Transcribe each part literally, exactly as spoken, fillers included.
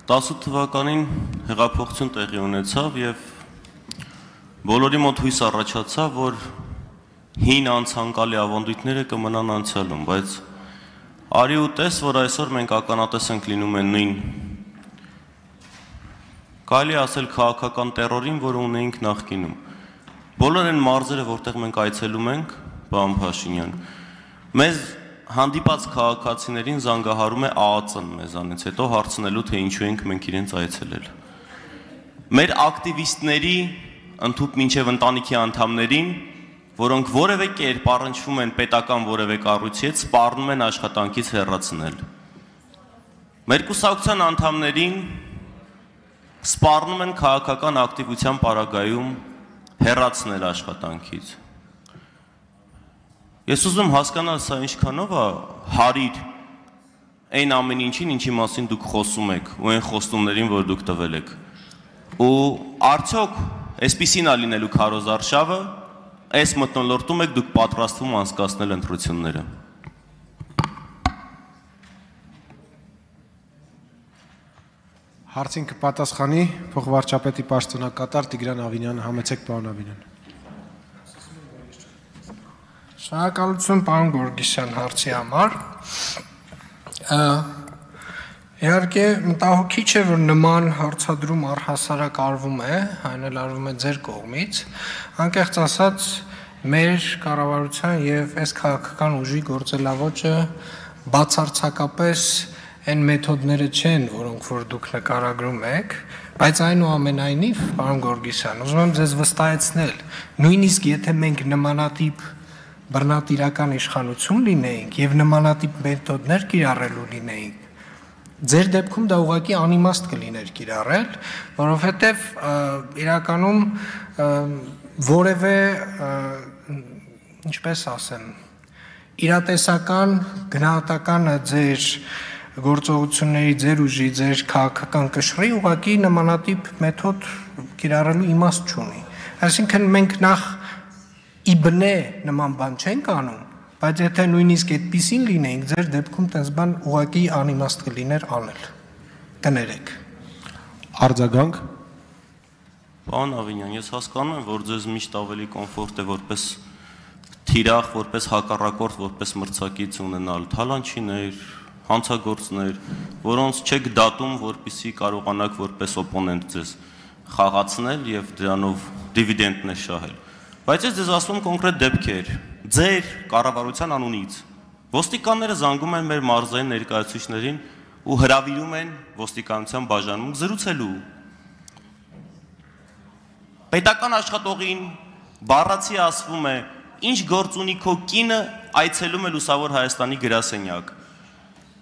տասը թվականին հեղափոխություն տեղի ունեցավ եւ բոլորի մոտ հույս առաջացավ, որ հին անցանկալի ավանդույթները կմնան անցյալում, բայց արի ու տես, որ այսօր մենք ականատես ենք լինում են նույն կարելի ասել քաղաքական տերորին, որը ունեինք նախկինում։ Բոլոր այն մարզերը, որտեղ մենք այցելում ենք, պարոն Փաշինյան, մեզ հանդիպած քաղաքացիներին զանգահարում է ԱԱԾ-ն մեզանից, հետո հարցնելու, թե ինչու ենք մենք իրենց այցելել։ Մեր ակտիվիստների, ընդհուպ մինչև ընտանիքի անդամներին, որոնք որևէ կերպ առնչվում են պետական որևէ կառույցի հետ, սպառնում են աշխատանքից հեռացնել։ Մեր կուսակցության անդամներին սպառնում են քաղաքական ակտիվության պարագայում հեռացնել աշխատանքից։ Ես ուզում հասկանալ, սա ինչքանով է հարիր այն ամեն ինչին, ինչի մասին դուք խոսում եք, ու այն խոստումներին, որ դուք տվել եք։ Ու արդյոք այսպիսին է լինելու քարոզարշավը, այս մթնոլորտում եք դուք պատրաստվում անցկացնել ընտրությունները։ Հարցին կպատասխանի փոխվարչապետի պաշտոնակատար Տիգրան Ավինյանը, համեցեք պարոն Ավինյան։ Շնորհակալություն պարոն Գորգիսյան հարցի համար։ Իհարկե մտահոգիչ է, որ նման հարցադրում առհասարակ արվում է, այն էլ արվում է ձեր կողմից, անկեղծ ասած մեր կառավարության եւ այս քաղաքական ուժի գործելավոճը բացարձակապես այն մեթոդները չեն, որոնք որ դուք նկարագրում եք, բայց այնուամենայնիվ, պարոն Գորգիսյան, ուզում եմ ձեզ վստահեցնել, նույնիսկ եթե մենք նմանատիպ բռնատիրական իշխանություն լինեինք եւ նմանատիպ մեթոդներ կիրառելու լինեինք, ձեր դեպքում դա ուղղակի անիմաստ կլիներ կիրառել, որովհետեւ իրականում որևէ, ինչպես ասեմ, իրատեսական գնահատականը ձեր գործողությունների ձեր ուժի, ձեր քաղաքական կշռի ուղղակի նմանատիպ մեթոդ կիրառելու իմաստ չունի։ Այսինքն մենք նախ իբնե նման բան չենք անում, բայց եթե նույնիսկ այդպիսին լինեինք, ձեր դեպքում տես բան ուղղակի անիմաստ կլիներ անել։ Կներեք։ Արձագանք։ Պարոն Ավինյան, ես հասկանում եմ, որ ձեզ միշտ ավելի կոմֆորտ է որպես թիրախ, որպես հակառակորդ, որպես մրցակից ունենալ թալանչիներ, հանցագործներ, որոնց չեք դատում, որպեսզի կարողանաք որպես օպոնենտ ձեզ խաղացնել եւ դրանով դիվիդենդներ շահել։ Բայց ես ձեզ ասում կոնկրետ դեպքեր, ձեր կառավարության անունից ոստիկանները զանգում են մեր մարզային ներկայացուցիչներին ու հրավիրում են ոստիկանության բաժանում զրուցելու։ Պետական աշխատողին բառացի ասվում է, ինչ գործ ունի քո կինը, այցելում է Լուսավոր Հայաստանի գրասենյակ։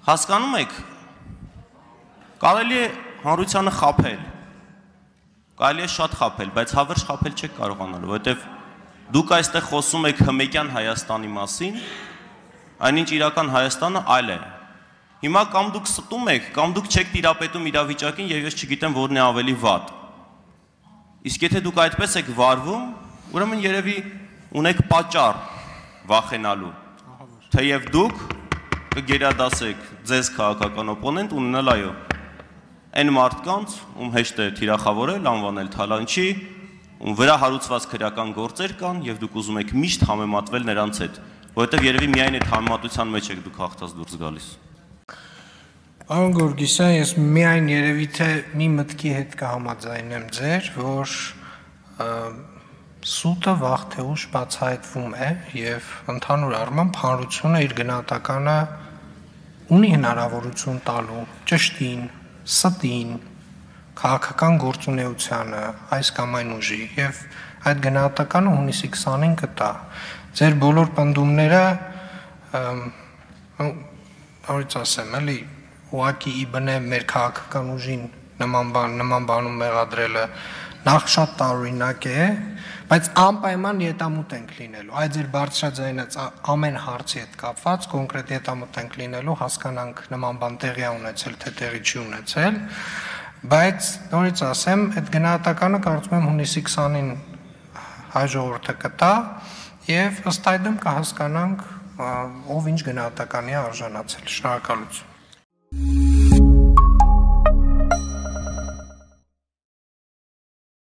Հասկանում եք, կարելի է հանրությանը խաբել, կարելի է շատ խաբել, բայց հավերժ խաբել չեք կարողանալու, որովհետև դուք այստեղ խոսում եք հմեկյան Հայաստանի մասին, այնինչ իրական Հայաստանը այլ է։ Հիմա կամ դուք ստում եք, կամ դուք չեք տիրապետում իրավիճակին եւ ես չգիտեմ որն է ավելի վատ։ Իսկ եթե դուք այդպես եք վարվում, ուրեմն երևի ունեք պատճառ վախենալու, թեև դուք կգերադասեք ձեզ քաղաքական օպոնենտ ունենալ այո, այն մարդկանց, ում հեշտ է թիրախավորել, անվանել թալանչի, ում վրա հարուցված քրեական գործեր կան եւ դուք ուզում եք միշտ համեմատվել նրանց հետ, որովհետեւ երևի միայն այդ համեմատության մեջ եք դուք հաղթած դուրս գալիս։ Պարոն Գորգիսյան, ես միայն երևի թե մի մտքի հետ կհամաձայնեմ ձեր, որ սուտը վաղ թե ուշ բացահայտվում է եւ ընդհանուր առմամբ հանրությունը իր գնահատականը ունի հնարավորություն տալու ճշտին, ստին, քաղաքական գործունեությանը, այս կամ այն ուժի եւ այդ գնահատականը հունիսի քսանին կտա։ Ձեր բոլոր պնդումները առից ասեմ, էլի ուղղակի իբնե մեր քաղաքական ուժին նման բան, նման բանում մեղադրելը նախ շատ տարօրինակ է, բայց անպայման ետամուտ ենք լինելու։ Այդ ձեր բարձրաձայնած ամեն հարցի հետ կապված կոնկրետ ետամուտ ենք լինելու, հասկանանք նման բան տեղի ունեցել, թե տեղի չի ունեցել, բայց նորից ասեմ, այդ գնահատականը կարծում եմ հունիսի քսանին հայ ժողովուրդը կտա եւ ըստ այդմ կհասկանանք ով ինչ գնահատականի արժանացել։ Շնորհակալություն։